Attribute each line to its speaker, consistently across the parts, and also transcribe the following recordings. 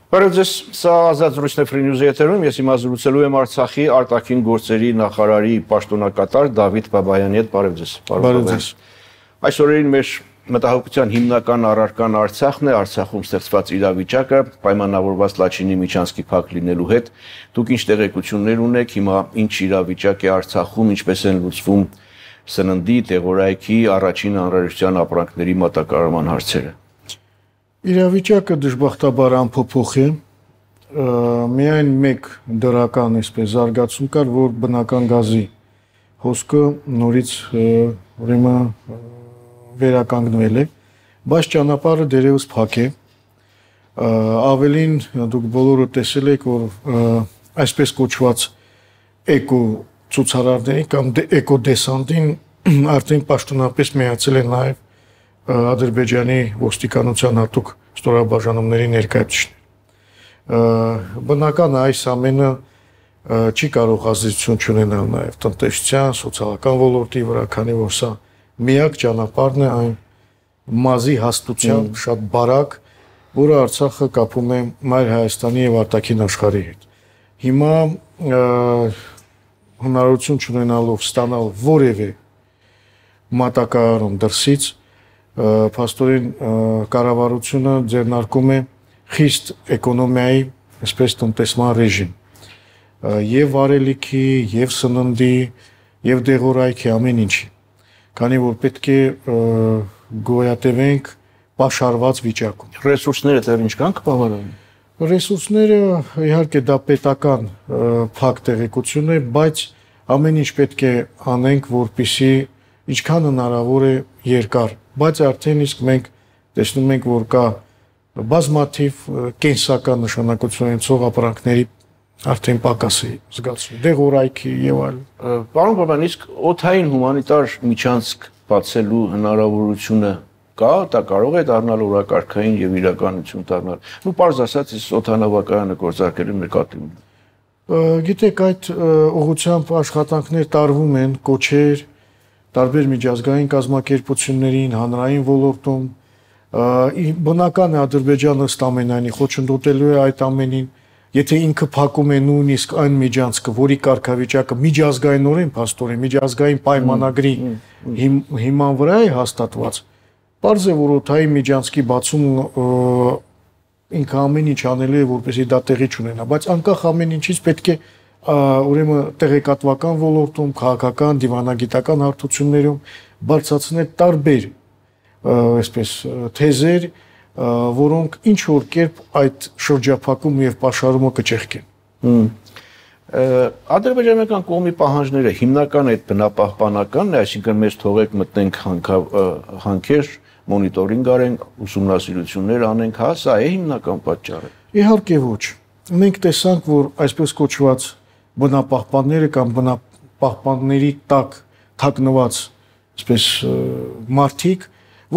Speaker 1: Բարև սա ազատ զրույցն է Free News-ի եթերում, ես հիմա զրուցելու եմ Արցախի արտաքին գործերի նախարարի պաշտոնակատար Դավիթ Բաբայանի հետ, բարև ձեզ։
Speaker 2: Բարև ձեզ։
Speaker 1: Այս օրերին մեր մտահոգության հիմնական առարկան Արցախն է, Արցախում ստեղծված իրավիճակը, պայմանավորված Լաչինի Միչանսկի փակ լինելու հետ։ Դուք ինչ տեղեկություններ ունեք, հիմա ինչ իրավիճակ է Արցախում, ինչպես են լուծվում սննդի, տեղորայքի, առաջին անհրաժեշտության ապրանքների մատակարարման հարցերը։
Speaker 2: Իրավիճակը դժբախտաբար անփոփոխ է, միայն մեկ դրական այսպես զարգացում կար, որ բնական գազի հոսքը նորից ուրեմն վերականգնվել է, բայց ճանապարհը դերևս փակ է, ավելին դուք բոլորը տեսել եք, որ այսպես կոչված էկո ցուցարարներին կամ էկո դեսանտին արդեն պաշտոնապես միացել են նաև Ադրբեջանի ոստիկանության հատուկ ստորաբաժանումների ներկայացուցիչներ։ Բնական է այս ամենը չի կարող ազդեցություն ունենալ նաև տնտեսության, սոցիալական ոլորտի վրա, քանի որ սա միակ ճանապարհն է այն մազի հաստության շատ բարակ, որը Արցախը կապում է Մայր Հայաստանի եւ արտաքին աշխարհի հետ։ Հիմա հնարավորություն չունենալով ստանալ որևէ մատակարարում դրսից փաստորեն կառավարությունը ձեռնարկում է խիստ էկոնոմիայի, այսպես տնտեսման ռեժիմ, եւ վարելիքի, եւ սննդի, եւ դեղորայքի ամեն ինչի, քանի որ պետք է գոյատևենք պաշարված վիճակում։
Speaker 1: Ռեսուրսները դեռ ինչքան կբավարարեն։
Speaker 2: Ռեսուրսները իհարկե դա պետական փակ տեղեկություն է, բայց ամեն ինչ պետք է անենք, որպեսզի ինչքան հնարավոր է երկար, բայց արդեն իսկ մենք տեսնում ենք, որ կա բազմաթիվ կենսական նշանակություն ունեցող ապրանքների արդեն պակաս է զգացվում, դեղորայքի եւ այլն։
Speaker 1: Պարոն Բաբյան, իսկ օդային հումանիտար միջանցք բացելու հնարավորությունը կա, դա կարող է դառնալ օրակարգային եւ իրականություն դառնալ։ Ու պարզ ասած, այս օդանավակայանը գործարկելու նկատի ունի։
Speaker 2: Գիտեք, այդ ուղղությամբ աշխատանքներ տարվում են, կոչեր տարբեր միջազգային կազմակերպություններին, հանրային ոլորտում, բնական է Ադրբեջանը ըստ ամենայնի խոչընդոտելու է այդ ամենին, եթե ինքը փակում է նույնիսկ այն միջանցքը, որի կարգավիճակը միջազգայինորեն փաստորեն միջազգային պայմանագրի հիման վրա է հաստատված, պարզ է, որ օդային միջանցքի բացում ինքը ամեն ինչ անելու է, որպեսզի դա տեղի չունենա, բայց անկախ ամեն ինչից պետք է ուրեմն տեղեկատվական ոլորտում, քաղաքական, դիվանագիտական հարթություններում բարձրացնել տարբեր այսպես թեզեր, որոնք ինչ որ կերպ այդ շրջափակումը եւ պաշարումը կճեղքեն։
Speaker 1: Ադրբեջանական կողմի պահանջները հիմնական այդ բնապահպանականն է, այսինքն մեզ թողեք մտնենք հանքեր, մոնիտորինգ արենք, ուսումնասիրություններ անենք, հա, սա է հիմնական պատճառը։
Speaker 2: Իհարկե ոչ։ Մենք տեսանք, որ այսպես կոչված բնապահպանները կամ բնապահպանների տակ թաքնված այսպես մարդիկ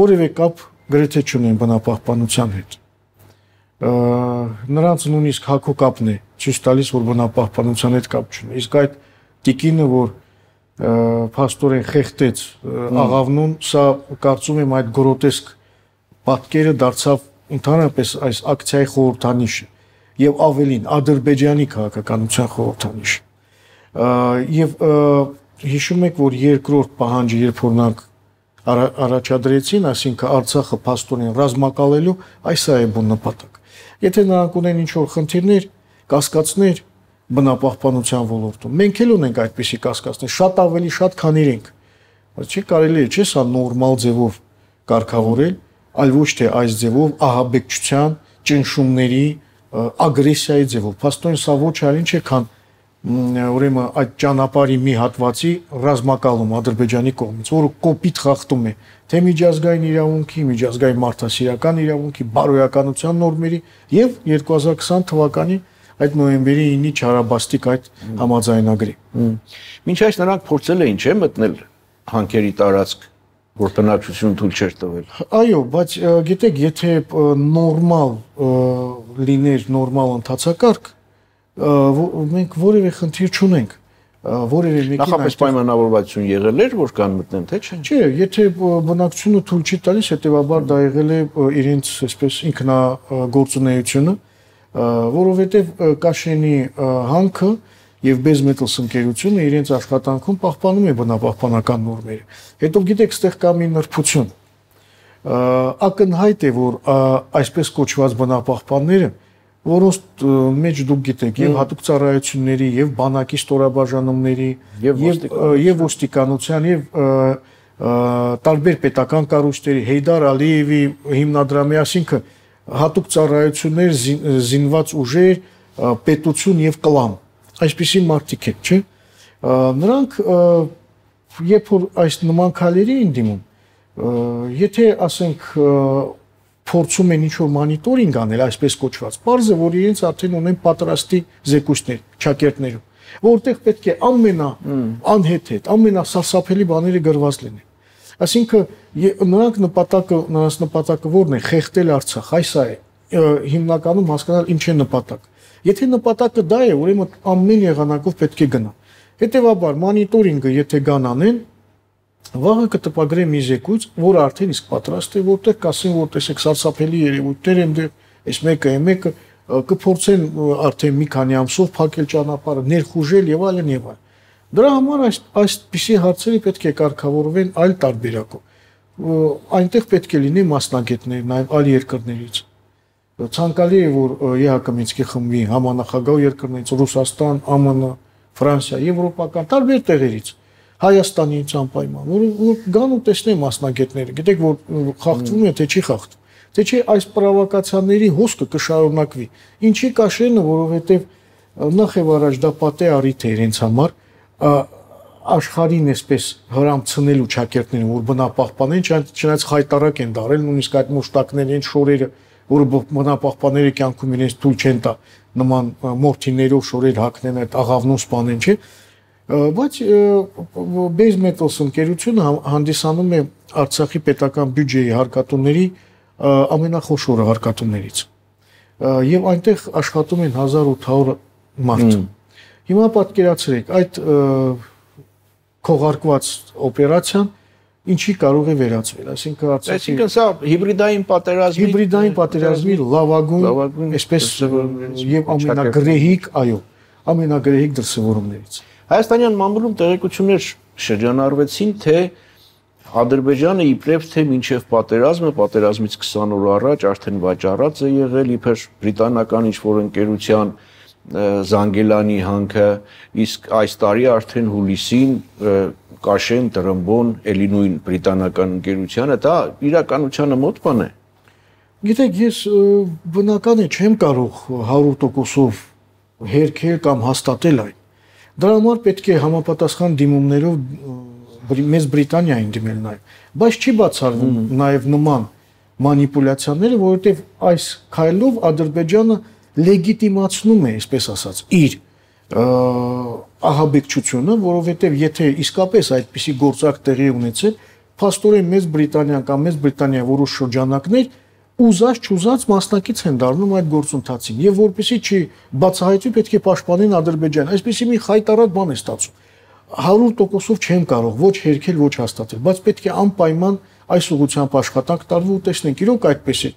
Speaker 2: որևէ կապ գրեթե չունեն բնապահպանության հետ։ Նրանց նույնիսկ հակոկապն է ցույց տալիս, որ բնապահպանության հետ կապ չունի։ Իսկ այդ տիկինը, որ փաստորեն խեղտեց աղավնուն, սա կարծում եմ այդ գրոտեսկ պատկերը դարձավ ընդհանրապես այս ակցիայի խորհրդանիշը եւ ավելին Ադրբեջանի քաղաքականության խորհրդանիշ։ Եվ հիշում եք, որ երկրորդ պահանջը, երբ որ նրանք առաջադրեցին, այսինքն Արցախը փաստորեն ռազմակալելու, այս է բուն նպատակ։ Եթե նրանք ունեն ինչ-որ խնդիրներ, կասկածներ բնապահպանության ոլորտում, մենք էլ ունենք այդպիսի կասկածներ, շատ ավելի շատ, քան իրենք։ Բայց չի կարելի է, չէ՞, սա նորմալ ձևով կարգավորել, այլ ոչ թե այս ձևով ահաբեկչության, ճնշումների, ագրեսիայի ձևով։ Փաստորեն սա ոչ այլ ինչ է, քան ուրեմն այդ ճանապարհի մի հատվածի ռազմակալում Ադրբեջանի կողմից, որը կոպիտ խախտում է թե միջազգային իրավունքի, միջազգային մարդասիրական իրավունքի, բարոյականության նորմերի եւ 2020 թվականի այդ նոյեմբերի 9-ի չարաբաստիկ այդ համաձայնագրի։
Speaker 1: Մինչ այս նրանք փորձել էին, չէ՞, մտնել հանքերի տարածք, որ բնակչություն թույլ չէր տվել։
Speaker 2: Այո, բայց գիտեք, եթե նորմալ լիներ նորմալ ընթացակարգ, մենք որևէ խնդիր չունենք, որևէ մեկին
Speaker 1: նախապես պայմանավորվածություն եղել էր, որ կան մտնեն, թե չէ։
Speaker 2: Չէ, եթե բնակչությունը թույլ չի տալիս, հետեւաբար դա եղել է իրենց այսպես ինքնագործունեությունը, որովհետև Կաշենի հանքը եւ Base Metals ընկերությունը իրենց աշխատանքում պահպանում է բնապահպանական նորմերը։ Հետո գիտեք, այստեղ կա մի նրբություն։ Ակնհայտ է, որ այսպես կոչված բնապահպանները, որոնց մեջ դուք գիտեք եւ հատուկ ծառայությունների եւ բանակի ստորաբաժանումների եւ ոստիկանության եւ տարբեր պետական կառույցների Հեյդար Ալիևի հիմնադրամի, այսինքն հատուկ ծառայություններ, զինված ուժեր, պետություն եւ կլան, այսպիսի մարդիկ են, չէ՞։ Նրանք երբ որ այս նման քայլերի են դիմում, եթե ասենք փորձում են ինչ-որ մանիտորինգ անել, այսպես կոչված, պարզ է, որ իրենց արդեն ունեն պատրաստի զեկույցներ, ճակերտներում, որտեղ պետք է անհեթեթ, ամենասարսափելի բաները գրված լինեն։ Այսինքն նրանց նպատակը որն է, խեղդել Արցախ, այս է հիմնականում հասկանալ ինչ է նպատակը։ Եթե նպատակը դա է, ուրեմն ամեն եղանակով պետք է գնա։ Հետևաբար մանիտորինգը եթե գան անեն, վաղը կտպագրե մի զեկույց, որ արդեն իսկ պատրաստ է, որտեղ կասեն, որ տեսեք սարսափելի երևույթներ են դեռ, այս մեկը կփորձեն արդեն մի քանի ամսով փակել ճանապարհը, ներխուժել եւ այլն եւ այլն։ Դրա համար այսպիսի հարցերը պետք է կարգավորվեն այլ տարբերակով։ Այնտեղ պետք է լինի մասնագետներ նաեւ այլ երկրներից։ Ցանկալի է, որ ԵՀԿ Մինսկի խմբի համանախագահ երկրներից, Ռուսաստան, ԱՄՆ, Ֆրանսիա, եվրոպական տարբեր տեղերից Հայաստանից անպայման, որ գան ու տեսնեն մասնագետները, գիտեք, որ խախտվում է, թե չի խախտվում, թե չի այս պրովոկացիաների հոսքը կշարունակվի։ Ինչի Կաշենը, որովհետև նախ եւ առաջ դա պատե առիթ է իրենց համար, աշխարհին այսպես հրամցնելու ճակերտներին, որ բնապահպանեն, չնայած խայտարակ են դարել, նույնիսկ այդ մուշտակների են շորերը, որը բնապահպանների կյանքում իրենց թույլ չեն տա նման մորթիներով շորեր հագնեն, այդ աղավնուն սպանեն, չէ՞։ Բայց Base Metals ընկերությունը հանդիսանում է Արցախի պետական բյուջեի հարկատուների ամենախոշորը հարկատուներից եւ այնտեղ աշխատում են 1800 մարդ։ Հիմա պատկերացրեք, այդ քողարկված օպերացիան ինչի կարող է վերածվել,
Speaker 1: այսինքն սա հիբրիդային
Speaker 2: պատերազմի լավագույն, այսպես եւ ամենագրեհիկ, այո, ամենագրեհիկ դրսևորումներից։
Speaker 1: Հայաստանյան մամուլում տեղեկություններ շրջանառվեցին, թե Ադրբեջանը իբրև թե մինչև պատերազմից 20 օր առաջ արդեն վաճառած է եղել իբր բրիտանական ինչ-որ ընկերության Զանգելանի հանքը, իսկ այս տարի արդեն հուլիսին Կաշեն, Տրմբոն, էլի նույն բրիտանական ընկերությանը, դա իրականությանը մոտ բան է։
Speaker 2: Գիտեք, ես բնական է չեմ կարող 100%-ով հերքել կամ հաստատել այն։ Դրա համար պետք է համապատասխան դիմումներով մեծ Բրիտանիային դիմել նաև, բայց չի բացառվում նաև նման մանիպուլյացիաները, որովհետև այս քայլով Ադրբեջանը լեգիտիմացնում է, այսպես ասած, իր ահաբեկչությունը, որովհետև եթե իսկապես այդպիսի գործարք տեղի ունեցել, փաստորեն Մեծ Բրիտանիան կամ Մեծ Բրիտանիա որոշ շրջանակներ ուզած մասնակից են դառնում այդ գործընթացին եւ որպեսի չի բացահայտվի պետք է պաշտպանեն Ադրբեջանը, այսպեսի մի խայտարակ բան է ստացվում։ 100%-ով չեմ կարող ոչ հերքել, ոչ հաստատել, բայց պետք է անպայման այս ուղղությամբ աշխատանք տարվի ու տեսնենք իրոք այդպես է,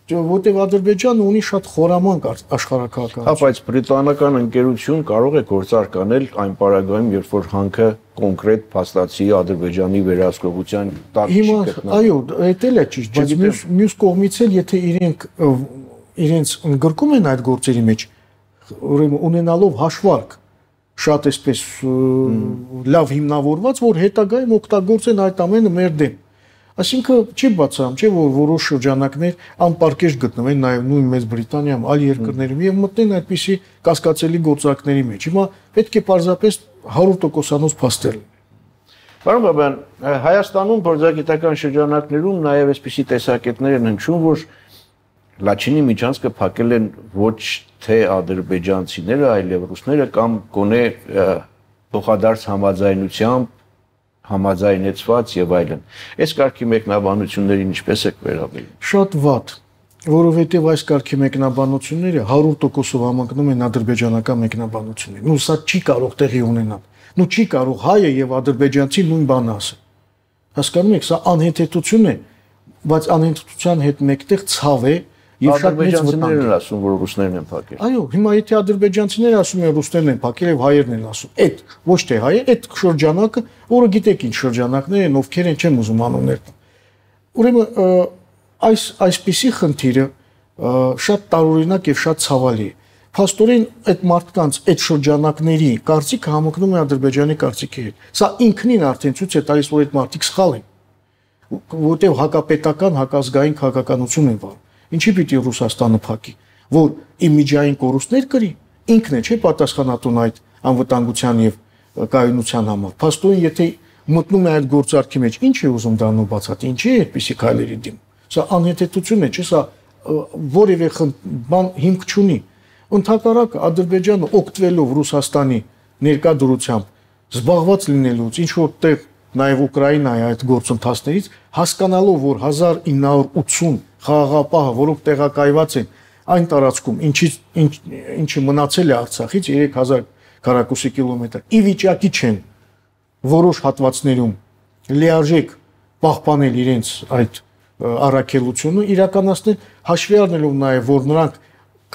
Speaker 2: որտեղ Ադրբեջանը ունի շատ խորամանկ աշխարհակահաղականություն։
Speaker 1: Հա, բայց բրիտանական ընկերություն կարող է գործարք անել այն պարագայում, երբ որ հանքը կոնկրետ փաստացի Ադրբեջանի վերահսկողության տակ չի գտնվում։
Speaker 2: Այո, դա էլ է ճիշտ, բայց մյուս կողմից էլ եթե իրենց ընդգրկում են այդ գործերի մեջ, ուրեմն ունենալով հաշվարկ շատ այսպես լավ հիմնավորված, որ հետագայում օգտագործեն այդ ամենը մեր դեմ։ Այսինքն չի բացառում, չէ՞ որ որոշ շրջանակներ անպարկեշտ գտնվեն նաև նույն Մեծ Բրիտանիայում, այլ երկրներում եւ մտնեն այդպիսի կասկածելի գործարքների մեջ։ Հիմա պետք է պարզապես 100%-անոց փաստել։
Speaker 1: Պարոն Բաբյան, Հայաստանում փորձագիտական շրջանակներում նաև այսպիսի տեսակետներ են հնչում, որ Լաչինի միջանցքը փակել են ոչ թե ադրբեջանցիները, այլև ռուսները կամ գոնե փոխադարձ համաձայնությամբ համաձայնեցված եւ այլն։ Այս կարգի մեկնաբանություններին ինչպես եք վերաբերում։
Speaker 2: Շատ վատ, որովհետեւ այս կարգի մեկնաբանությունները 100%-ով համընկնում են ադրբեջանական մեկնաբանություններին։ Նու սա չի կարող տեղի ունենալ։ Նու չի կարող հայը եւ ադրբեջանցի նույն բանը ասել։ Հասկանում եք, սա անհեթեթություն է, բայց անհեթեթության հետ մեկտեղ ցավ է եւ շատ մեծ
Speaker 1: վտանգ են ասում, որ ռուսներն են փակել։
Speaker 2: Այո, հիմա եթե ադրբեջանցիները ասում են ռուսներն են փակել եւ հայերն են ասում, այդ ոչ թե հայը, այդ շրջանակը, որը գիտեք ինչ շրջանակներ են, ովքեր են, չեմ ուզում անուններ տալ։ Ուրեմն այսպիսի խնդիրը շատ տարօրինակ եւ շատ ցավալի է։ Փաստորեն այդ մարդկանց այդ շրջանակների կարծիքը համընկնում է Ադրբեջանի կարծիքի հետ։ Սա ինքնին արդեն ցույց է տալիս, որ այդ մարդիկ սխալ են, որտեղ հակապետական, հակազգային քաղաքականություն են վարում։ Ինչի պիտի Ռուսաստանը փակի, որ իմիջային կորուստներ կրի, ինքն է չէ պատասխանատուն այդ անվտանգության եւ կայունության համար։ Փաստորեն եթե մտնում է այդ գործարքի մեջ, ինչ է ուզում դառնալ բացատրի, ինչի է այդպիսի քայլերի դիմում։ Սա անհետեթություն է, չէ՞, սա որևէ բան հիմք չունի։ Ընդհակառակը Ադրբեջանը օգտվելով Ռուսաստանի ներկայությամբ զբաղված լինելուց, ինչ որտեղ նաև Ուկրաինայի այդ գործընթացներից, հասկանալով, որ 1980 խաղաղապահը, որոնք տեղակայված են այն տարածքում, ինչը մնացել է Արցախից 3000 քառակուսի կիլոմետր, ի վիճակի չեն որոշ հատվածներում լիարժեք պահպանել իրենց այդ առաքելությունը, իրականացնել հաշվի առնելով նաև, որ նրանք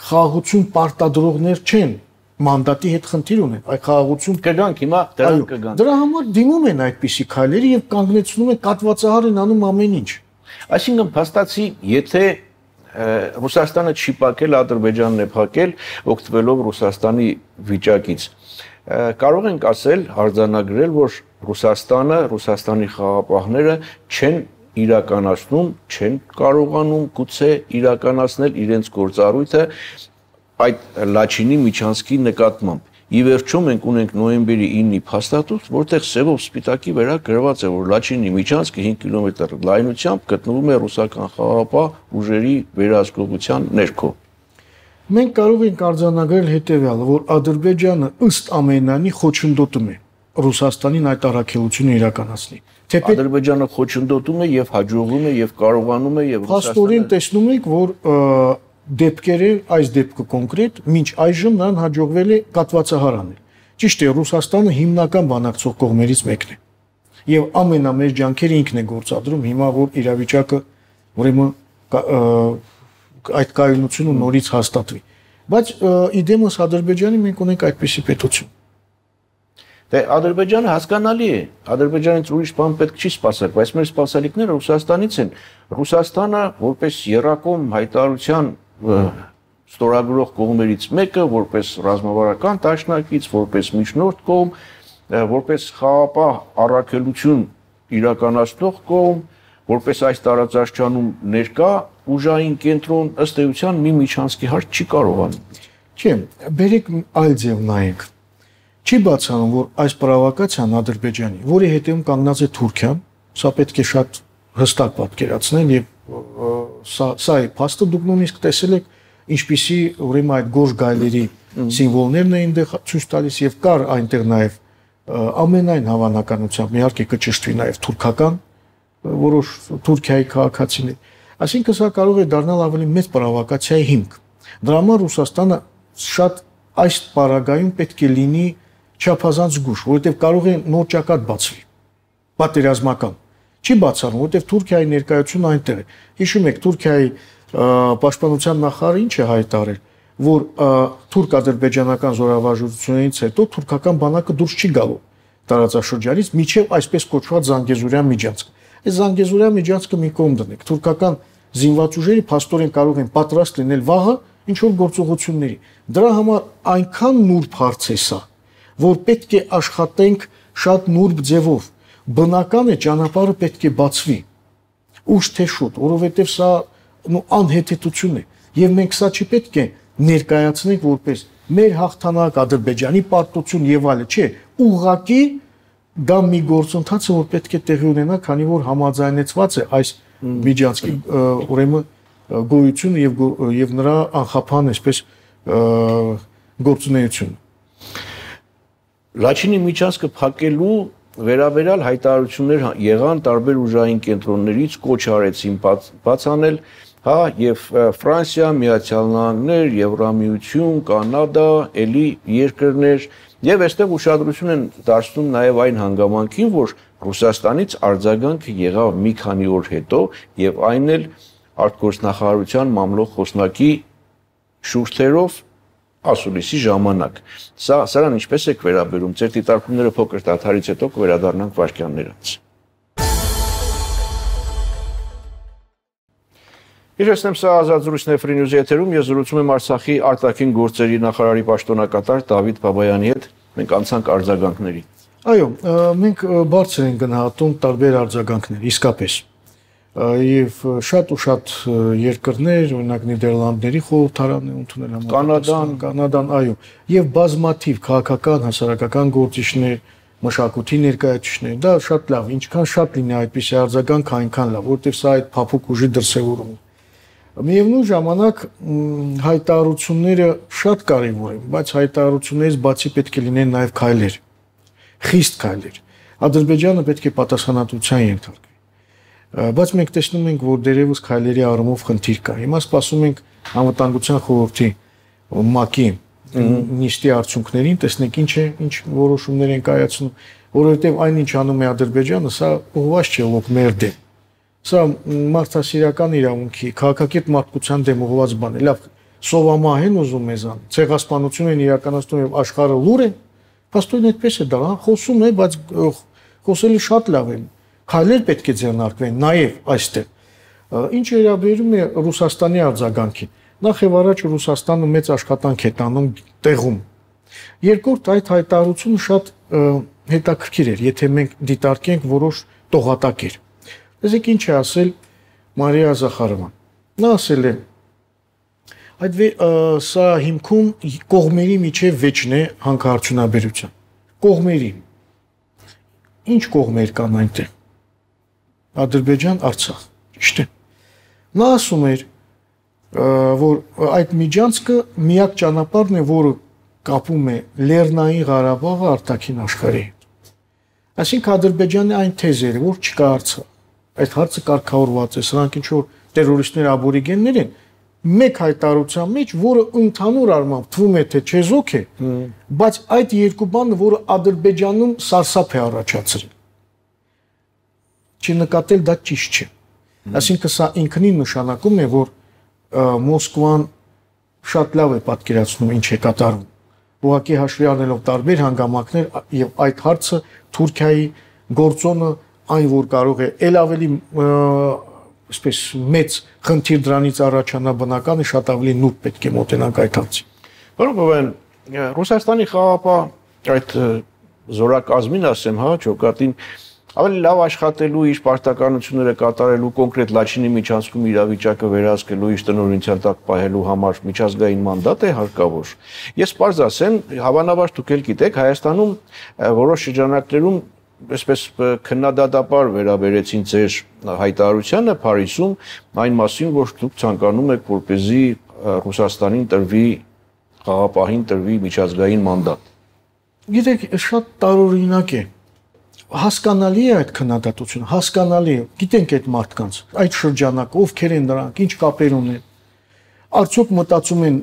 Speaker 2: խաղաղություն պարտադրողներ չեն, մանդատի հետ խնդիր ունեն, այդ խաղաղություն
Speaker 1: կգանք հիմա դրան կգանք։
Speaker 2: Դրա համար դիմում են այդպիսի քայլերի եւ կանգնեցնում են կատվածահար են անում ամեն ինչ։
Speaker 1: Այսինքն փաստացի, եթե Ռուսաստանը չի փակել, Ադրբեջանն է փակել, օգտվելով Ռուսաստանի վիճակից, կարող ենք ասել, արձանագրել, որ Ռուսաստանը, Ռուսաստանի խաղապահները չեն իրականացնում, չեն կարողանում գուցե իրականացնել իրենց գործառույթը այդ Լաչինի Միչանսկի նկատմամբ։ Ի վերջո մենք ունենք նոյեմբերի 9-ի փաստաթուղթ, որտեղ սևով սպիտակի վրա գրված է, որ Լաչինի Միչանսկը 5 կիլոմետր լայնությամբ գտնվում է ռուսական խաղապահ ուժերի վերահսկողության ներքո։
Speaker 2: Մենք կարող ենք արձանագրել հետևյալը, որ Ադրբեջանը ըստ ամենանի խոչընդոտում է Ռուսաստանին այդ առաքելությունը իրականացնի։
Speaker 1: Ադրբեջանը խոչընդոտում է եւ հաջողվում է եւ կարողանում է եւ
Speaker 2: Ռուսաստանը տեսնում եք, որ դեպքերը, այս դեպքը կոնկրետ, մինչ այժմ նրան հաջողվել է կատվածահար անել։ Ճիշտ է, Ռուսաստանը հիմնական բանակցող կողմերից մեկն է։ Եվ ամենամեծ ջանքերը ինքն է գործադրում հիմա, որ իրավիճակը ուրեմն այդ կայունությունը նորից հաստատվի։ Բայց իդեմս Ադրբեջանի մենք ունենք այդպիսի պետություն։
Speaker 1: Դե Ադրբեջանը հասկանալի է, Ադրբեջանից ուրիշ բան պետք չի սպասել, բայց մեր սպասելիքները Ռուսաստանից են։ Ռուսաստանը որպես երակոմ հայտարարության ստորագրող կողմերից մեկը, որպես ռազմավարական դաշնակից, որպես միջնորդ կողմ, որպես խաղապահ առաքելություն իրականացնող կողմ, որպես այս տարածաշրջանում ներկա ուժային կենտրոն, ըստ էության մի Միչանսկի հարց չի կարողանում։
Speaker 2: Չէ, բերեք այլ ձև նայենք։ Չի բացառում, որ այս պրովոկացիան Ադրբեջանի, որի հետևում կանգնած է Թուրքիան, սա պետք է շատ հստակ պատկերացնել եւ սա է փաստը, դուք նույնիսկ տեսել եք ինչպիսի ուրեմն այդ գորշ գայլերի սիմվոլներն էին դե ցույց տալիս եւ կար այնտեղ նաեւ ամենայն հավանականությամբ իհարկե կճշտվի նաեւ թուրքական որոշ Թուրքիայի քաղաքացիներ, այսինքն սա կարող է դառնալ ավելի մեծ պրովոկացիայի հիմք։ Դրա համար Ռուսաստանը շատ այս պարագայում պետք է լինի չափազանց զգուշ, որովհետև կարող է նոր ճակատ բացվի, պատերազմական։ Չի բացառում, որովհետև Թուրքիայի ներկայությունը այնտեղ է։ Հիշում եք, Թուրքիայի պաշտպանության նախարարը ինչ է հայտարարել, որ թուրք-ադրբեջանական զորավարժությունից հետո թուրքական բանակը դուրս չի գալու տարածաշրջանից, միջև այսպես կոչված Զանգեզուրյան միջանցք։ Այս Զանգեզուրյան միջանցքը մի կողմ դնենք, թուրքական զինված ուժերը փաստորեն կարող են պատրաստ լինել վաղը ինչ որ գործողությունների։ Դրա համար այնքան նուրբ հարց է սա, որ պետք է աշխատենք շատ նուրբ ձևով։ Բնական է ճանապարհը պետք է բացվի։ Ուշ թե շուտ, որովհետև սա անհետեթություն է։ Եվ մենք սա չի պետք է ներկայացնենք որպես մեր հաղթանակ, Ադրբեջանի պարտություն եւ այլն, չէ, ուղղակի դա մի գործընթաց է, որ պետք է տեղի ունենա, քանի որ համաձայնեցված է այս միջանցքի ուրեմն գոյությունը եւ նրա անխափան այսպես գործունեությունը։
Speaker 1: Լաչինի Միչանսկը փակելու վերաբերյալ հայտարարություններ եղան տարբեր ուժային կենտրոններից, կոչ արեցին բաց անել, հա, եւ Ֆրանսիա, Միացյալ Նահանգներ, Եվրամիություն, Կանադա, էլի երկրներ, եւ այստեղ ուշադրություն են դարձնում նաեւ այն հանգամանքին, որ Ռուսաստանից արձագանքը եղավ մի քանի օր հետո եւ այն էլ արտգործնախարարության մամլոյ խոսնակի շուրթերով ասուլիսի ժամանակ։ Սրան ինչպես եք վերաբերում, ձեր դիտարկումները փոքր դադարից հետո կվերադառնանք վայրկյաններ անց։ Իրացնեմ սա ազատ զրույցն է Free News-ի եթերում, ես զրուցում եմ Արցախի արտաքին գործերի նախարարի պաշտոնակատար Դավիթ Բաբայանի հետ, մենք անցանք արձագանքների։
Speaker 2: Այո, մենք բարձր ենք գնահատում տարբեր արձագանքներ, իսկապես։ Եվ շատ ու շատ երկրներ, օրինակ Նիդերլանդների խորհրդարանը ընդունել Կանադան, այո, եւ բազմաթիվ քաղաքական, հասարակական գործիչներ, մշակույթի ներկայացուցիչներ, դա շատ լավ, ինչքան շատ լինի այդպիսի արձագանք, այնքան լավ, որտեղ սա այդ փափուկ ուժի դրսևորումն է։ Միևնույն ժամանակ հայտարարությունները շատ կարևոր են, բայց հայտարարություններից բացի պետք է լինեն նաեւ քայլեր, խիստ քայլեր։ Ադրբեջանը պետք է պատասխանատվության ենթարկվի։ Բայց մենք տեսնում ենք, որ դերևս քայլերի առումով խնդիր կա։ Հիմա սպասում ենք անվտանգության խորհրդի ՄԱԿ-ի նիստի արդյունքներին, տեսնենք ինչ որոշումներ են կայացնում, որովհետև այնինչ անում է Ադրբեջանը, սա ուղղված չէ ոք մեր դեմ։ Սա մարդասիրական իրավունքի, քաղաքակիրթ մարդկության դեմ ուղղված բան է։ Լավ, սովամահ են ուզում մեզան, ցեղասպանություն են իրականացնում եւ աշխարհը լուր է։ Փաստորեն այդպես է դա, խոսում է, բայց խոսելը շատ լավ է։ Քայլեր պետք է ձեռնարկվեն նաև այստեղ։ Ինչ վերաբերում է Ռուսաստանի արձագանքին, նախ եւ առաջ Ռուսաստանը մեծ աշխատանք է տանում տեղում։ Երկրորդ, այդ հայտարարությունը շատ հետաքրքիր էր, եթե մենք դիտարկենք որոշ տողատակեր։ Տեսեք ինչ է ասել Մարիա Զախարովան։ Նա ասել է. այդ սա հիմքում կողմերի միջև վեճն է հանքարդյունաբերության։ Կողմերի։ Ինչ կողմեր կան այնտեղ։ Ադրբեջան, Արցախ, ճիշտ է։ Նա ասում էր, որ այդ միջանցքը միակ ճանապարհն է, որը կապում է Լեռնային Ղարաբաղը արտաքին աշխարհի հետ։ Այսինքն Ադրբեջանի այն թեզերը, որ չկա Արցախ, այդ հարցը կարգավորված է, սրանք ինչ որ տերորիստներ, աբորիգեններ են, մեկ հայտարարության մեջ, որը ընդհանուր առմամբ թվում է թե չեզոք է, բայց այդ երկու բանը, որը Ադրբեջանում սարսափ է առաջացրել։ Չնկատել դա ճիշտ չէ։ Այսինքն սա ինքնին նշանակում է, որ Մոսկվան շատ լավ է պատկերացնում ինչ է կատարվում։ Ուղղակի հաշվի առնելով տարբեր հանգամանքներ եւ այդ հարցը Թուրքիայի գործոնը այն որ կարող է ել ավելի այսպես մեծ խնդիր դրանից առաջանա բնական է շատ ավելի նուրբ պետք է մոտենանք այդ հարցին։
Speaker 1: Որովհետեւ Ռուսաստանի խաղապահ այդ զորակազմին ասեմ, հա, ճոկատին ավելի լավ աշխատելու իր պարտականությունները կատարելու կոնկրետ Լաչինի միջանցքում իրավիճակը վերահսկելու իր տնօրինության տակ պահելու համար միջազգային մանդատ է հարկավոր։ Ես պարզ ասեմ, հավանաբար դուք ել գիտեք, Հայաստանում որոշ շրջանակներում այսպես քննադատաբար վերաբերեցին ձեր հայտարարությանը Փարիզում այն մասին, որ դուք ցանկանում եք, որպեսզի Ռուսաստանին տրվի խաղապահին տրվի միջազգային մանդատ։
Speaker 2: Գիտեք, շատ տարօրինակ է։ Հասկանալի է այդ քննադատությունը, հասկանալի է։ Գիտենք այդ մարդկանց, այդ շրջանակը ովքեր են նրանք, ինչ կապեր ունեն։ Արդյոք մտածում են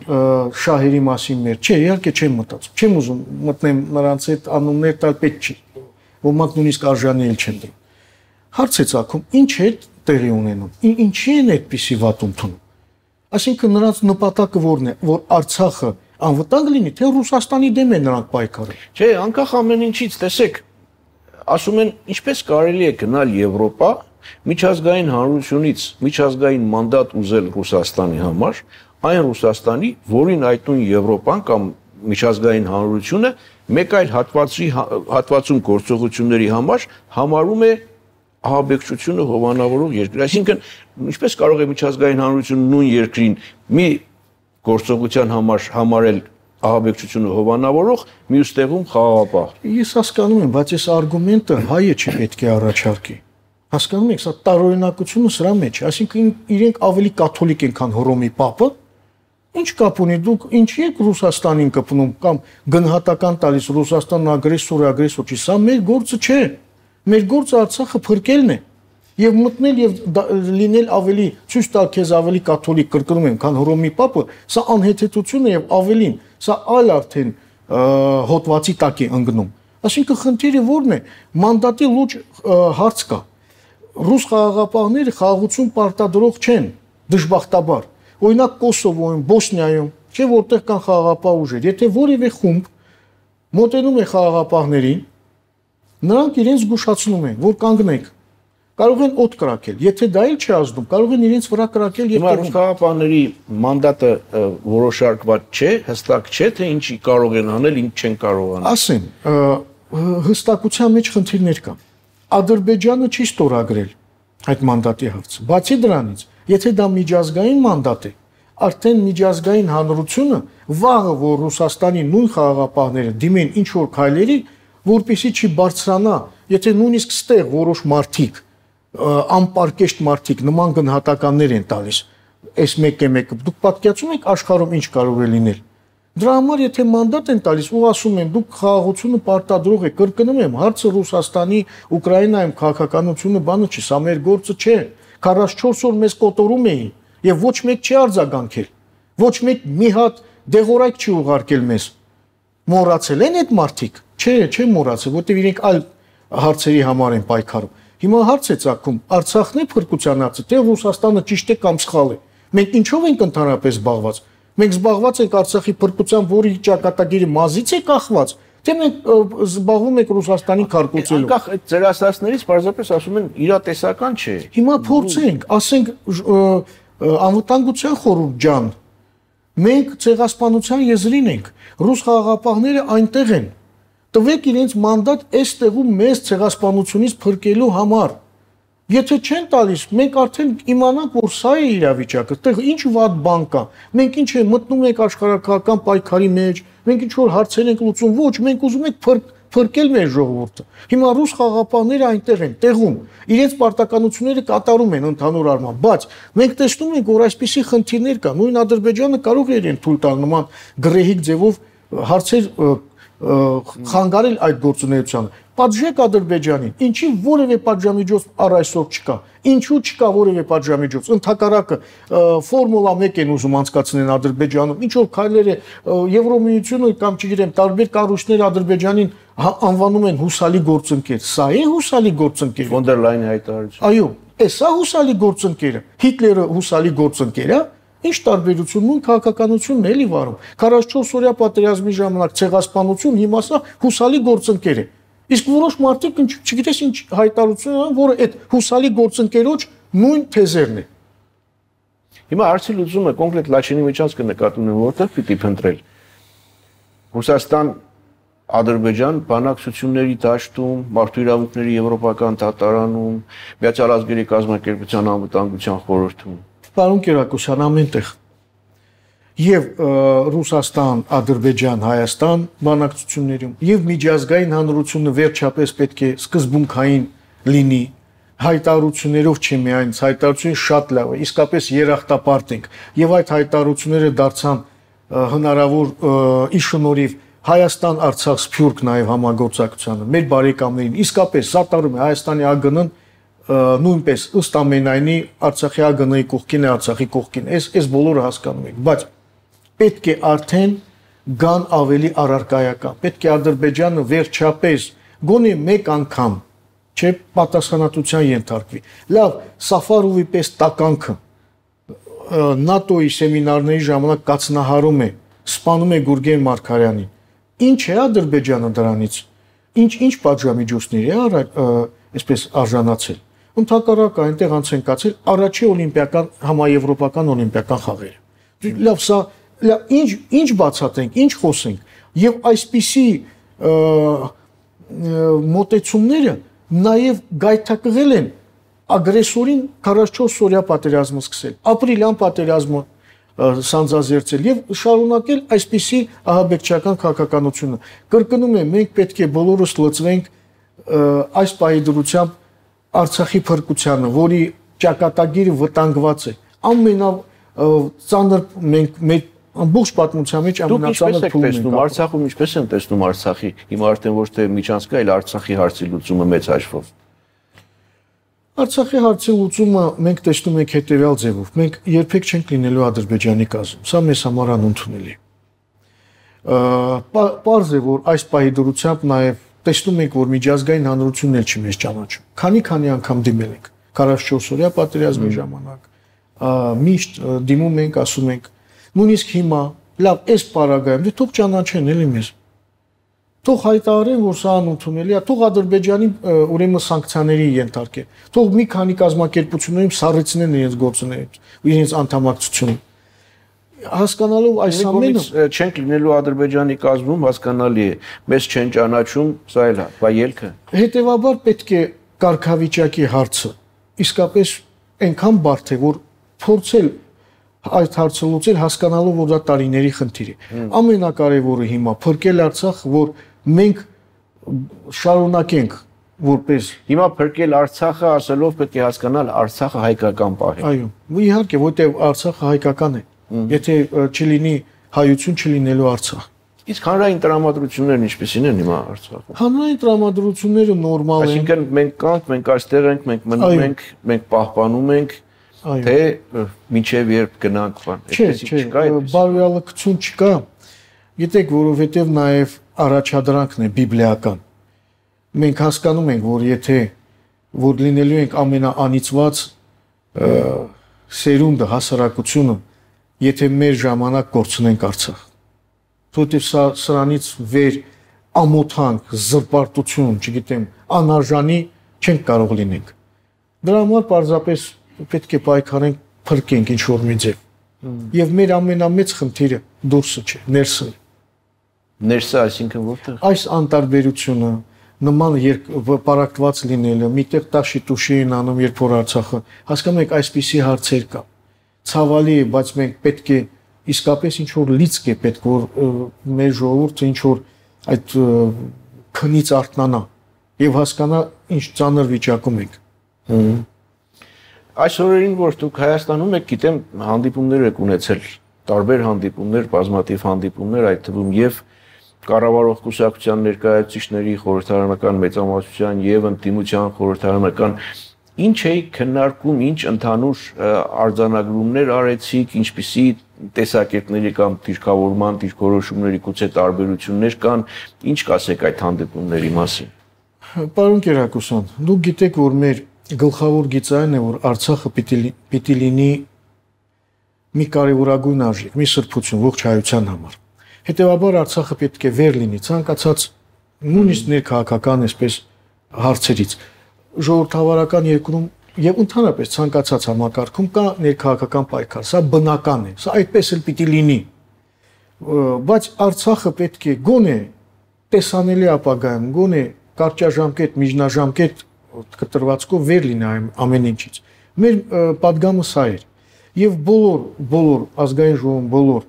Speaker 2: շահերի մասին մեր։ Չէ, իհարկե չեմ մտածում։ Չեմ ուզում մտնեմ նրանց այդ անուններ տալ պետք չի։ Ոմանք նույնիսկ արժանի էլ չեն դրում։ Հարց է ցակում, ինչ է տեղի ունենում։ Ինչի են այդպիսի վատ ընդունում։ Այսինքն նրանց նպատակը որն է, որ Արցախը անվտանգ լինի, թե Ռուսաստանի դեմ է նրանք պայքարում։
Speaker 1: Չէ, անկախ ամեն ինչից, տեսեք, ասում են, ինչպես կարելի է գնալ Եվրոպա միջազգային հանրությունից միջազգային մանդատ ուզել Ռուսաստանի համար, այն Ռուսաստանի, որին այդտուն Եվրոպան կամ միջազգային հանրությունը մեկ այլ հատվածում գործողությունների համար համարում է ահաբեկչությունը հովանավորող երկիր։ Այսինքն, ինչպես կարող է միջազգային հանրությունը նույն երկրին մի գործողության համար համարել ահաբեկչությունը հովանավորող, մյուս տեղում խաղաղապահ։
Speaker 2: Ես հասկանում եմ, բայց այս արգումենտը հայը չպետք է առաջարկի։ Հասկանում եք, սա տարօրինակությունը սրա մեջ է, այսինքն իրենք ավելի կաթոլիկ են, քան Հռոմի Պապը։ Ինչ կապ ունի դուք ինչի եք Ռուսաստանին կպնում կամ գնահատական տալիս Ռուսաստանն ագրեսոր չի, սա մեր գործը չէ։ Մեր գործը Արցախը փրկելն է եւ մտնել եւ լինել ավելի ցույց տալ քեզ ավելի կաթոլիկ կրկնում եմ, քան Հռոմի Պապը, սա անհեթեթություն է եւ ավելին, սա այլ արդեն հոտվածի տակ է ընկնում։ Այսինքն խնդիրը ո՞րն է։ Մանդատի լուրջ հարց կա։ Ռուս խաղաղապահները խաղաղություն պարտադրող չեն։ Դժբախտաբար։ Օրինակ Կոսովոյում, Բոսնիայում, չէ որտեղ կան խաղաղապահ ուժեր, եթե որևէ խումբ մոտենում է խաղաղապահներին, նրանք իրենց զգուշացնում են, որ կանգնեք։ Կարող են օդ կրակել, եթե դա էլ չի ազդում, կարող են իրենց վրա կրակել եւ
Speaker 1: Հիմա խաղաղապահների մանդատը որոշարկված չէ, հստակ չէ, թե ինչ կարող են անել, ինչ չեն կարող անել։
Speaker 2: Ասեմ, հստակության մեջ խնդիրներ կան։ Ադրբեջանը չի ստորագրել այդ մանդատի հարցը։ Բացի դրանից, եթե դա միջազգային մանդատ է, արդեն միջազգային հանրությունը վաղը որ Ռուսաստանի նույն խաղաղապահները դիմեն ինչ որ քայլերի, որպեսզի չի բարձրանա, եթե նույնիսկ ստեղ որոշ մարդիկ անպարկեշտ մարդիկ նման գնահատականներ են տալիս, այս մեկը, դուք պատկերացնում եք աշխարհում ինչ կարող է լինել։ Դրա համար եթե մանդատ են տալիս ու ասում են դուք խաղաղությունը պարտադրող եք, կրկնում եմ, հարցը Ռուսաստանի, Ուկրաինայում քաղաքականությունը բանը չի, սա մեր գործը չէ։ 44 օր մեզ կոտորում էին եւ ոչ մեկ չի արձագանքել։ Ոչ մեկ մի հատ դեղորայք չի ուղարկել մեզ։ Մոռացել են այդ մարդիկ։ Չէ, մոռացել, որտեղ իրենք այլ հարցերի համար են պայքարում։ Հիմա հարց է ծագում, Արցախն է փրկության հարցը, թե Ռուսաստանը ճիշտ է կամ սխալ է։ Մենք ինչով ենք ընդհանրապես զբաղված։ Մենք զբաղված ենք Արցախի փրկության, որի ճակատագիրը մազից է կախված, թե մենք զբաղվում ենք Ռուսաստանին քարկոծելով։
Speaker 1: Անկախ այդ ձեր ասածներից պարզապես ասում են իրատեսական չէ։
Speaker 2: Հիմա փորձենք, ասենք անվտանգության խորհուրդ ջան, մենք ցեղասպանության եզրին ենք, ռուս խաղաղապահները այնտեղ են։ Տվեք իրենց մանդատ այս տեղում մեզ ցեղասպանությունից փրկելու համար։ Եթե չեն տալիս, մենք արդեն իմանանք, որ սա է իրավիճակը, այդտեղ ինչ վատ բան կա։ Մենք ինչ է մտնում ենք աշխարհակահական պայքարի մեջ, մենք ինչ որ հարցեր ենք լուծում, ոչ, մենք ուզում ենք փրկել մեր ժողովուրդը։ Հիմա ռուս խաղաղապահները այնտեղ են, տեղում, իրենց պարտականությունները կատարում են ընդհանուր առմամբ, բայց մենք տեսնում ենք, որ այսպիսի խնդիրներ կան։ Նույն Ադրբեջանը կարող է իրեն թույլ տալ նման գռեհիկ ձևով հարցեր խանգարել այդ գործունեությանը։ Պատժեք Ադրբեջանին, ինչի որևէ պատժամիջոց առ այսօր չկա։ Ինչու չկա որևէ պատժամիջոց։ Ընդհակառակը ֆորմուլա 1 են ուզում անցկացնել Ադրբեջանում։ Ինչ որ քայլեր է Եվրոմիությունը կամ չգիտեմ, տարբեր կառույցներ Ադրբեջանին անվանում են հուսալի գործընկեր։ Սա է հուսալի գործընկերը։
Speaker 1: Ֆոն դեր Լայնի հայտարարություն։
Speaker 2: Այո, սա հուսալի գործընկերը։ Հիտլերը հուսալի գործընկեր է։ Ինչ տարբերություն նույն քաղաքականությունն էլի վարում 44 օրյա պատերազմի ժամանակ ցեղասպանություն հիմա սա հուսալի գործընկեր է իսկ որոշ մարդիկ չգիտես ինչ հայտարարություն են որը այդ հուսալի գործընկերոջ նույն թեզերն է
Speaker 1: Հիմա հարցի լուծումը կոնկրետ Լաչինի միջանցքը նկատի ունեմ որտեղ պիտի փնտրել Ռուսաստան Ադրբեջան բանակցությունների դաշտում մարդու իրավունքների եվրոպական դատարանում Միացյալ ազգերի կազմակերպության անվտանգության խորհրդում
Speaker 2: Պարոն Կիրակոսյան ամենտեղ եւ Ռուսաստան, Ադրբեջան, Հայաստան բանակցություններում եւ միջազգային հանրությունը վերջապես պետք է սկզբունքային լինի հայտարարություններով չի միայն հայտարարությունը շատ լավ է իսկապես երախտապարտ ենք եւ այդ հայտարարությունները դարձան հնարավոր ի շնորհիվ Հայաստան Արցախ Սփյուռք նաեւ համագործակցությանը մեր բարեկամներին իսկապես սատարում է Հայաստանի ԱԳՆ-ն նույնպես ըստ ամենայնի Արցախի ԱԳՆ-ի կողքին է Արցախի կողքին այս բոլորը հասկանում են բայց պետք է արդեն գան ավելի առարկայական պետք է Ադրբեջանը վերջապես գոնե մեկ անգամ չէ պատասխանատվության ենթարկվի լավ Սաֆարովի պես տականքը ՆԱՏՕ-ի սեմինարների ժամանակ կացնահարում է սպանում է Գուրգեն Մարգարյանին ինչ է Ադրբեջանը դրանից ինչ պատժամիջոցներ է այսպես արժանացել Ընդհակառակը այնտեղ անց են կացել առաջի օլիմպիական համաեվրոպական օլիմպիական խաղերը։ Լավ, սա ինչ բացատրենք, ինչ խոսենք եւ այսպիսի մոտեցումները նաեւ գայթակղել են ագրեսորին 44 օրյա պատերազմը սկսել, ապրիլյան պատերազմը սանձազերծել եւ շարունակել այսպիսի ահաբեկչական քաղաքականությունը։ Կրկնում եմ, մենք պետք է բոլորս լծվենք այս պահի դրությամբ Արցախի փրկությանը, որի ճակատագիրը վտանգված է, ամենածանր մենք մեր ամբողջ պատմության մեջ ամենածանր փուլն ենք։
Speaker 1: Արցախում ինչպես են տեսնում Արցախի, հիմա արդեն ոչ թե միջանցքը, այլ Արցախի հարցի լուծումը մեծ հաշվով։
Speaker 2: Արցախի հարցի լուծումը մենք տեսնում ենք հետևյալ ձևով։ Մենք երբեք չենք լինելու Ադրբեջանի կազմում։ Սա մեզ համար անընդունելի է։ Պարզ է, որ այս պահի դրությամբ նաև տեսնում ենք, որ միջազգային հանրությունն էլ չի մեզ ճանաչում։ Քանի անգամ դիմել ենք 44 օրյա պատերազմի ժամանակ, միշտ դիմում ենք, ասում ենք, նույնիսկ հիմա, լավ, այս պարագայում, դե թող ճանաչեն էլի մեզ։ Թող հայտարարեն, որ սա անընդունելի է, թող Ադրբեջանի ուրեմն սանկցիաների ենթարկեն։ Թող մի քանի կազմակերպություններում սառեցնեն իրենց գործունեությունը, իրենց անդամակցությունը։ Հասկանալով այս ամենը
Speaker 1: չենք լինելու Ադրբեջանի կազմում, հասկանալի է, մեզ չեն ճանաչում, սա էլ է, բա ելքը։
Speaker 2: Հետևաբար պետք է կարգավիճակի հարցը իսկապես այնքան բարդ է, որ փորձել այդ հարցը լուծել, հասկանալով, որ դա տարիների խնդիր է։ Ամենակարևորը հիմա փրկել Արցախ, որ մենք շարունակենք որպես
Speaker 1: հիմա փրկել Արցախը ասելով պետք է հասկանալ Արցախը հայկական պահ է։
Speaker 2: Այո, իհարկե, որտեղ Արցախը հայկական է։ Եթե չլինի հայություն, չլինելու Արցախ։
Speaker 1: Իսկ հանրային տրամադրություններն ինչպեսին են հիմա Արցախում։
Speaker 2: Հանրային տրամադրությունները նորմալ են։
Speaker 1: Այսինքն մենք կանք, մենք այստեղ ենք, մենք մնում ենք, մենք պահպանում ենք, թե մինչև երբ գնանք բան։
Speaker 2: Այդպես չկա, բարոյալքություն չկա։ Գիտեք, որովհետև նաև առաջադրանքն է բիբլիական։ Մենք հասկանում ենք, որ եթե որ լինելու ենք ամենաանիծված սերունդը, հասարակությունը, եթե մեր ժամանակ կորցնենք Արցախ։ Որտեղ սրանից վեր ամոթանք, զրպարտություն, չգիտեմ, անարժանի չենք կարող լինենք։ Դրա համար պարզապես պետք է պայքարենք, փրկենք ինչ որ մի ձև։ Եվ մեր ամենամեծ խնդիրը դուրսը չէ, ներսը։
Speaker 1: Ներսը, այսինքն որտեղ։
Speaker 2: Այս անտարբերությունը, նման պարակտված լինելը, միտեղ տաշի-տուշի են անում, երբ որ Արցախը, հասկանում եք, այսպիսի հարցեր կա։ Ցավալի է, բայց մենք պետք է իսկապես ինչ որ լիցք է պետք, որ մեր ժողովուրդը ինչ որ այդ քնից արթնանա եւ հասկանա ինչ ծանր վիճակում ենք։
Speaker 1: Այս օրերին, որ դուք Հայաստանում եք, գիտեմ, հանդիպումներ եք ունեցել, տարբեր հանդիպումներ, բազմաթիվ հանդիպումներ, այդ թվում եւ կառավարող կուսակցության ներկայացուցիչների, խորհրդարանական մեծամասնության եւ ընդդիմության խորհրդարանական ինչ էի քննարկում, ինչ ընդհանուր արձանագրումներ արեցիք, ինչպիսի տեսակետների կամ դիրքավորման, դիրքորոշումների գուցե տարբերություններ կան, ինչ կասեք այդ հանդիպումների մասին։
Speaker 2: Պարոն Կերակոսյան, դուք գիտեք, որ մեր գլխավոր գիծային է, որ Արցախը պիտի լինի մի կարևորագույն արժեք, մի սրբություն ողջ հայության համար։ Հետևաբար Արցախը պետք է վեր լինի ցանկացած նույնիսկ ներքաղաքական այսպես հարցերից։ Ժողովրդավարական երկրում եւ ընդհանրապես ցանկացած համակարգում կա ներքաղաքական պայքար, սա բնական է, սա այդպես էլ պիտի լինի։ Բայց Արցախը պետք է գոնե տեսանելի ապագայում, գոնե կարճաժամկետ, միջնաժամկետ կտրվածքով վեր լինի ամեն ինչից։ Մեր պատգամը սա էր։ Եվ բոլոր ազգային ժողովում, բոլոր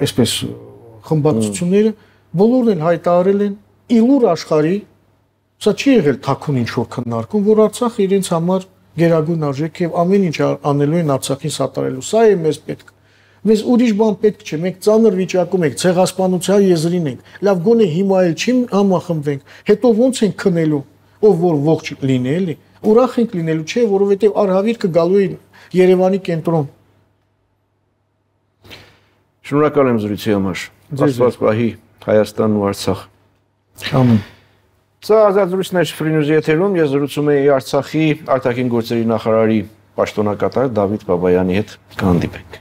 Speaker 2: այսպես խմբակցությունները բոլորն էլ հայտարարել են իլուր աշխարհի, սա չի եղել թաքուն ինչ որ քննարկում, որ Արցախը իրենց համար գերագույն արժեք եւ ամեն ինչ անելու են Արցախին սատարելու։ Սա է մեզ պետք։ Մեզ ուրիշ բան պետք չէ, մենք ծանր վիճակում ենք, ցեղասպանության եզրին ենք։ Լավ, գոնե հիմա էլ չի համախմբվենք, հետո ո՞նց ենք քնելու, ով որ ողջ լինի, էլի։ Ուրախ ենք լինելու, չէ, որովհետեւ արհավիրքը գալու է Երևանի կենտրոն։
Speaker 1: Շնորհակալ եմ զրույցի համար։ Աստված պահի Հայաստանն ու Արցախ։
Speaker 2: Ամեն։
Speaker 1: Սա ազատ զրույցներ Free News եթերում, ես զրուցում եի Արցախի արտաքին գործերի նախարարի պաշտոնակատար Դավիթ Բաբայանի հետ, կհանդիպենք։